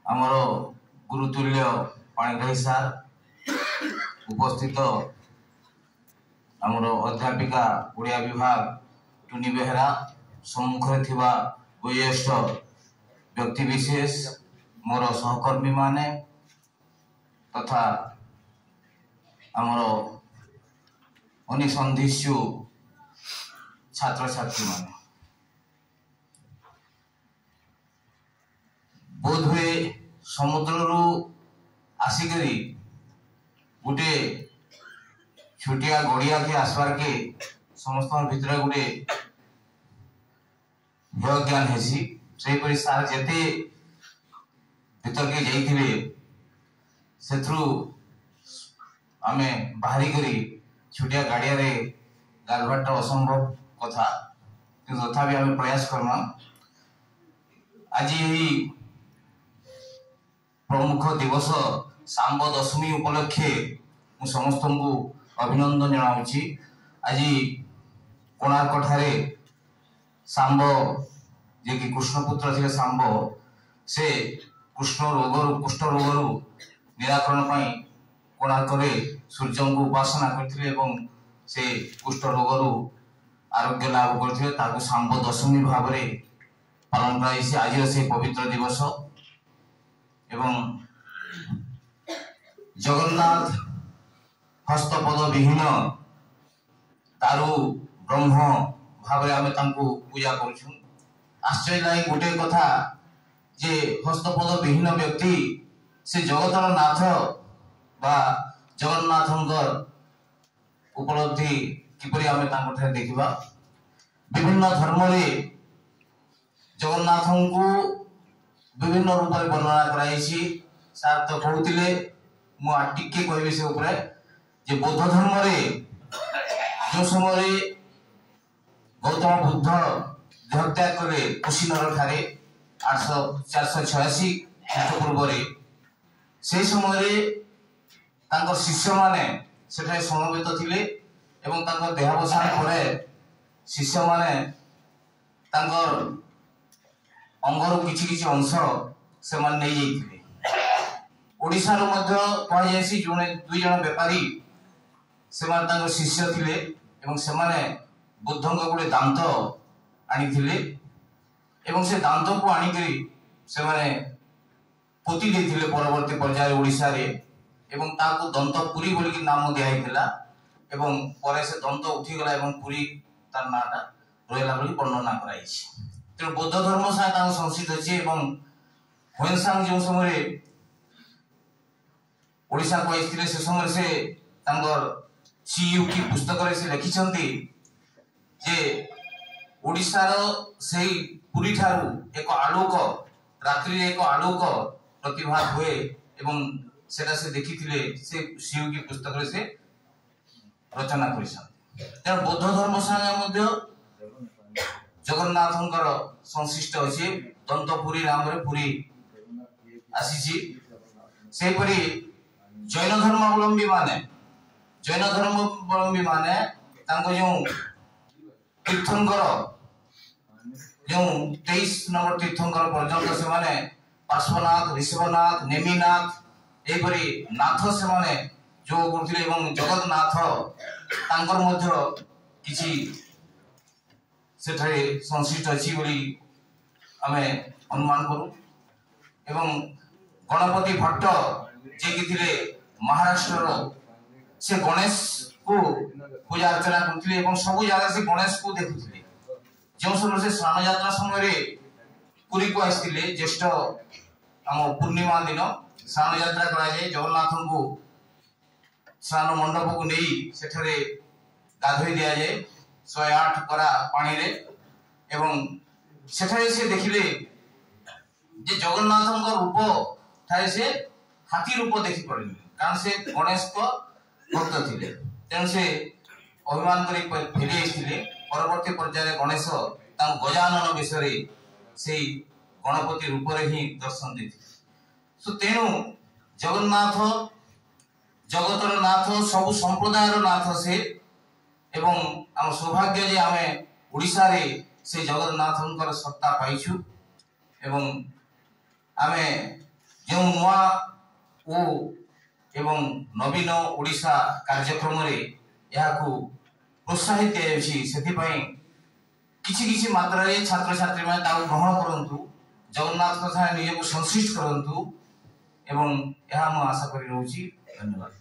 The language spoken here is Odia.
ଆମର ଗୁରୁତୁଲ୍ୟ ପାଣିଗ୍ରାହୀ ସାର୍, ଉପସ୍ଥିତ ଆମର ଅଧ୍ୟାପିକା ଓଡ଼ିଆ ବିଭାଗ ଟୁନି ବେହେରା, ସମ୍ମୁଖରେ ଥିବା ବୟୋଜ୍ୟେଷ୍ଠ ବ୍ୟକ୍ତିବିଶେଷ, ମୋର ସହକର୍ମୀମାନେ ତଥା ଆମର ଅନୁସନ୍ଧିତ୍ସୁ ଛାତ୍ରଛାତ୍ରୀମାନେ, ବୋଧହୁଏ ସମୁଦ୍ରରୁ ଆସିକରି ଗୋଟେ ଛୋଟିଆ ଗଡ଼ିଆକେ ଆସବାର୍କେ ସମସ୍ତଙ୍କ ଭିତରେ ଗୋଟେ ହେୟ ଜ୍ଞାନ ହେସି। ସେହିପରି ସାର୍ ଯେତେ ଭିତରକେ ଯାଇଥିବେ, ସେଥିରୁ ଆମେ ବାହାରି କରି ଛୋଟିଆ ଗାଡ଼ିଆରେ ଗାଧବାରଟା ଅସମ୍ଭବ କଥା, କିନ୍ତୁ ତଥାପି ଆମେ ପ୍ରୟାସ କର୍ମା। ଆଜି ଏହି ପ୍ରମୁଖ ଦିବସ ଶାମ୍ବ ଦଶମୀ ଉପଲକ୍ଷେ ମୁଁ ସମସ୍ତଙ୍କୁ ଅଭିନନ୍ଦନ ଜଣାଉଛି। ଆଜି କୋଣାର୍କଠାରେ ଶାମ୍ବ, ଯିଏକି କୃଷ୍ଣପୁତ୍ର ଥିଲେ ଶାମ୍ବ, ସେ କୃଷ୍ଣ ରୋଗରୁ କୁଷ୍ଠ ରୋଗରୁ ନିରାକରଣ ପାଇଁ କୋଣାର୍କରେ ସୂର୍ଯ୍ୟଙ୍କୁ ଉପାସନା କରିଥିଲେ ଏବଂ ସେ କୁଷ୍ଠ ରୋଗରୁ ଆରୋଗ୍ୟ ଲାଭ କରିଥିଲେ। ତାକୁ ଶାମ୍ବ ଦଶମୀ ଭାବରେ ପାଳନ କରାଯାଇଛି ଆଜିର ସେଇ ପବିତ୍ର ଦିବସ। ଏବଂ ଜଗନ୍ନାଥ ହସ୍ତପଦ ବିହୀନ ଦାରୁ ବ୍ରହ୍ମ ଭାବରେ ଆମେ ତାଙ୍କୁ ପୂଜା କରୁଛୁ। ଆଶ୍ଚର୍ଯ୍ୟ ଲାଗେ ଗୋଟେ କଥା ଯେ ହସ୍ତପଦ ବିହୀନ ବ୍ୟକ୍ତି ସେ ଜଗତର ନାଥ ବା ଜଗନ୍ନାଥଙ୍କ ଉପଲବ୍ଧି କିପରି ଆମେ ତାଙ୍କଠାରେ ଦେଖିବା। ବିଭିନ୍ନ ଧର୍ମରେ ଜଗନ୍ନାଥଙ୍କୁ ବିଭିନ୍ନ ରୂପରେ ବର୍ଣ୍ଣନା କରାଯାଇଛି। ସାର୍ ତ କହୁଥିଲେ, ମୁଁ ଆଉ ଟିକେ କହିବି ସେ ଉପରେ ଯେ ବୌଦ୍ଧ ଧର୍ମରେ ଯେଉଁ ସମୟରେ ଗୌତମ ବୁଦ୍ଧ ଦେହତ୍ୟାଗ କଲେ କୁଶୀନର ଠାରେ 486 ଖ୍ରୀଷ୍ଟପୂର୍ବରେ, ସେହି ସମୟରେ ତାଙ୍କ ଶିଷ୍ୟମାନେ ସେଠାରେ ସମବେତ ଥିଲେ ଏବଂ ତାଙ୍କ ଦେହାବସାନ ପରେ ଶିଷ୍ୟମାନେ ତାଙ୍କର ଅଙ୍ଗରୁ କିଛି କିଛି ଅଂଶ ସେମାନେ ନେଇଯାଇଥିଲେ। ଓଡ଼ିଶାରୁ ମଧ୍ୟ କୁହାଯାଇଛି ଜଣେ ଦୁଇ ଜଣ ବେପାରୀ ସେମାନେ ତାଙ୍କ ଶିଷ୍ୟ ଥିଲେ ଏବଂ ସେମାନେ ବୁଦ୍ଧଙ୍କ ଗୋଟେ ଦାନ୍ତ ଆଣିଥିଲେ ଏବଂ ସେ ଦାନ୍ତକୁ ଆଣିକରି ସେମାନେ ପୋତି ଦେଇଥିଲେ ପରବର୍ତ୍ତୀ ପର୍ଯ୍ୟାୟରେ ଓଡ଼ିଶାରେ, ଏବଂ ତାକୁ ଦନ୍ତପୁରୀ ବୋଲିକି ନାମ ଦିଆହେଇଥିଲା ଏବଂ ପରେ ସେ ଦନ୍ତ ଉଠିଗଲା ଏବଂ ପୁରୀ ତାର ନାଁଟା ରହିଲା ବୋଲି ବର୍ଣ୍ଣନା କରାଯାଇଛି। ତେଣୁ ବୌଦ୍ଧ ଧର୍ମ ସାଙ୍ଗେ ତାଙ୍କ ସଂଶ୍ଳିଷ୍ଟ ଅଛି। ଏବଂ ହୁଏନସାଂ ଯେଉଁ ସମୟରେ ଓଡ଼ିଶାକୁ ଆସିଥିଲେ, ସେ ସମୟରେ ସେ ତାଙ୍କର ସିୟୁକି ପୁସ୍ତକରେ ସେ ଲେଖିଛନ୍ତି ଯେ ଓଡ଼ିଶାର ସେଇ ପୁରୀ ଠାରୁ ଏକ ଆଲୋକ, ରାତ୍ରିରେ ଏକ ଆଲୋକ ପ୍ରତିଭାତ ହୁଏ ଏବଂ ସେଟା ସେ ଦେଖିଥିଲେ, ସେ ସିୟୁକି ପୁସ୍ତକରେ ସେ ରଚନା କରିଛନ୍ତି। ତେଣୁ ବୌଦ୍ଧ ଧର୍ମ ସାଙ୍ଗେ ମଧ୍ୟ ଜଗନ୍ନାଥଙ୍କର ସଂଶ୍ଳିଷ୍ଟ ଅଛି। ଦନ୍ତପୁରୀ ନାମରେ ପୁରୀ ଆସିଛି। ସେହିପରି ଜୈନ ଧର୍ମାବଲମ୍ବୀ ମାନେ, ଜୈନ ଧର୍ମାବଲମ୍ବୀ ମାନେ ତାଙ୍କ ଯେଉଁ ତୀର୍ଥଙ୍କର ଯେଉଁ 23 ନମ୍ବର ତୀର୍ଥଙ୍କର ପର୍ଯ୍ୟନ୍ତ ସେମାନେ ପାର୍ଶ୍ୱନାଥ, ঋଷଭନାଥ, ନେମିନାଥ ଏହିପରି ନାଥ ସେମାନେ ଯୋଗ କରୁଥିଲେ ଏବଂ ଜଗନ୍ନାଥ ତାଙ୍କର ମଧ୍ୟ କିଛି ସେଠାରେ ସଂଶ୍ଳିଷ୍ଟ ଅଛି ବୋଲି ଆମେ ଅନୁମାନ କରୁ। ଏବଂ ଗଣପତି ଭଟ୍ଟ ଯିଏକି ଥିଲେ ମହାରାଷ୍ଟ୍ରର, ସେ ଗଣେଶକୁ ପୂଜା ଅର୍ଚ୍ଚନା କରୁଥିଲେ ଏବଂ ସବୁ ଜାଗାରେ ସେ ଗଣେଶକୁ ଦେଖୁଥିଲେ। ଯେଉଁ ସମୟରେ ସେ ସ୍ନାନ ଯାତ୍ରା ସମୟରେ ପୁରୀକୁ ଆସିଥିଲେ, ଜ୍ୟେଷ୍ଠ ଆମ ପୂର୍ଣ୍ଣିମା ଦିନ ସ୍ନାନ ଯାତ୍ରା କରାଯାଏ, ଜଗନ୍ନାଥଙ୍କୁ ସ୍ନାନ ମଣ୍ଡପକୁ ନେଇ ସେଠାରେ ଗାଧୋଇ ଦିଆଯାଏ 108 କରା ପାଣିରେ। ଏବଂ ସେଠାରେ ସେ ଦେଖିଲେ ଯେ ଜଗନ୍ନାଥଙ୍କ ରୂପ ଠାରେ ସେ ହାତୀ ରୂପ ଦେଖିପାରିଲେ, କାରଣ ସେ ଗଣେଶଙ୍କ ଭକ୍ତ ଥିଲେ। ତେଣୁ ସେ ଅଭିମାନ କରି ଫେରି ଆସିଥିଲେ। ପରବର୍ତ୍ତୀ ପର୍ଯ୍ୟାୟରେ ଗଣେଶ ତାଙ୍କୁ ଗଜାନନ ବେଶରେ ସେଇ ଗଣପତି ରୂପରେ ହିଁ ଦର୍ଶନ ଦେଇଥିଲେ। ତେଣୁ ଜଗନ୍ନାଥ ଜଗତର ନାଥ, ସବୁ ସମ୍ପ୍ରଦାୟର ନାଥ ସେ। ଏବଂ ଆମ ସୌଭାଗ୍ୟ ଯେ ଆମେ ଓଡ଼ିଶାରେ ସେ ଜଗନ୍ନାଥଙ୍କର ସତ୍ତା ପାଇଛୁ ଏବଂ ଆମେ ଯେଉଁ ନୂଆ ଓ ଏବଂ ନବୀନ ଓଡ଼ିଶା କାର୍ଯ୍ୟକ୍ରମରେ ଏହାକୁ ପ୍ରୋତ୍ସାହିତ ଦିଆଯାଉଛି, ସେଥିପାଇଁ କିଛି କିଛି ମାତ୍ରାରେ ଛାତ୍ରଛାତ୍ରୀମାନେ ତାକୁ ଗ୍ରହଣ କରନ୍ତୁ, ଜଗନ୍ନାଥଙ୍କ ସାଙ୍ଗେ ନିଜକୁ ସଂଶ୍ଳିଷ୍ଟ କରନ୍ତୁ ଏବଂ ଏହା ମୁଁ ଆଶା କରି ରହୁଛି। ଧନ୍ୟବାଦ।